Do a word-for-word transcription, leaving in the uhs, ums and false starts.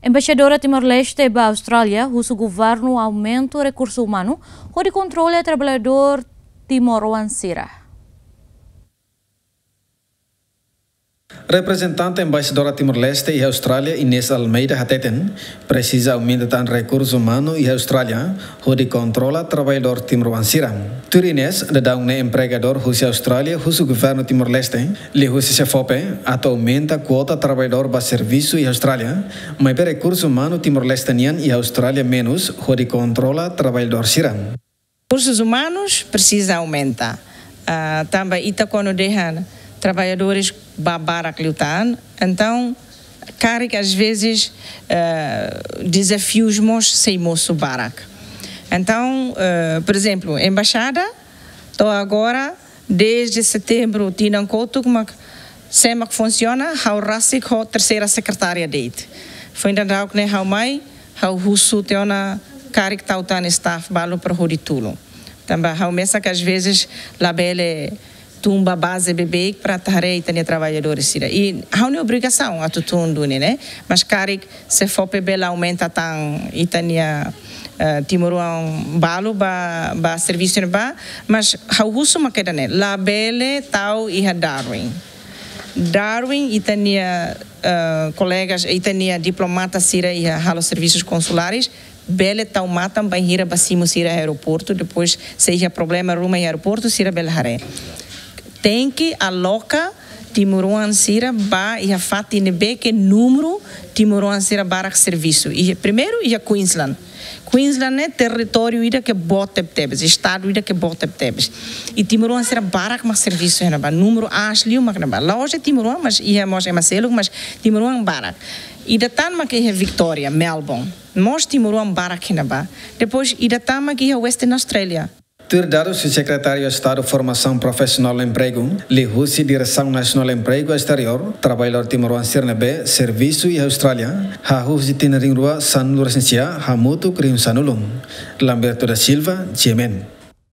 Embaixadora Timor-Leste ba Austrália husu governu aumenta rekursu umanu hodi kontrola traballadór timoroan sira. Reprezentante Embaixadora Timor-Leste iha Austrália, Inês Almeida, hateten presiza aumenta tan rekursu umanu iha Austrália hodi kontrola traballadór timoroan sira. Tuir Inês, daudaun ne'e empregadór husi Austrália husu governu Timor-Leste, liuhusi SEFOPE, atu aumenta kuota traballadór ba servisu iha Austrália, maibé rekursu umanu Timor-Leste nian iha Austrália menus hodi kontrola traballadór sira. Rekursus umanus presiza aumenta. Ah, tanba ita kuandu dehan traballadores ba barak liután, entaun karik às vezes, eh, dezafius mós sei mosu barak. Entaun, eh, por ezemplu, embaixada to'o agora, dezde setembru tinan kotuk mak, sé mak funsiona, ha'u rasik ho terseira sekretária de'it. Foin daudauk ne'e ha'u mai, ha'u husu tiha ona karik tau tan staff balu para hodi tulun. Tanba ha'u mesak às vezes labele tun ba baze beibeik para atu haree ita-nia traballadores sira. I ha'u-nia obrigasaun atu tun duni ne'e. Mas karik SEFOPE bele aumenta tan ita-nia, eh, timoroan balu ba, ba servisu ne'ebá, mas ha'u husu mak ida-ne'e, labele tau iha Darwin. Darwin ita-nia, eh, kolegas, ita-nia diplomata sira iha halo servisus konsulares, bele tau matan bainhira ba simu sira aeroportu, depois se iha problema ruma iha aeroportu, sira bele haree. Tenke aloka timoroan sira ba iha fatin ne'ebé ke númeru timoroan sira barak servisu. Iha, primeiru iha Queensland. Queensland ne'e territóriu ida ke boot tebetebes, estadu ida ke boot tebetebes. I timoroan sira barak mak servisu iha ne'ebá, númeru aas liu mak ne'ebá. La'ós de'it timoroan, mas iha mós ema seluk, mas timoroan barak. Ida tan mak iha Victoria, Melbourne. Mós timoroan barak iha ne'ebá. Depois ida tan mak iha Western Australia. Tuir dadus husi Sekretáriu Estadu Formasaun Profisionál no Empregu, liuhusi Diresaun Nasionál Empregu Esteriór, traballadór timoroan sira ne'ebé servisu iha Austrália, hahú husi tinan rihun rua sanulu-resin-sia hamutuk rihun sanulu. Lamberto da Silva, GMN.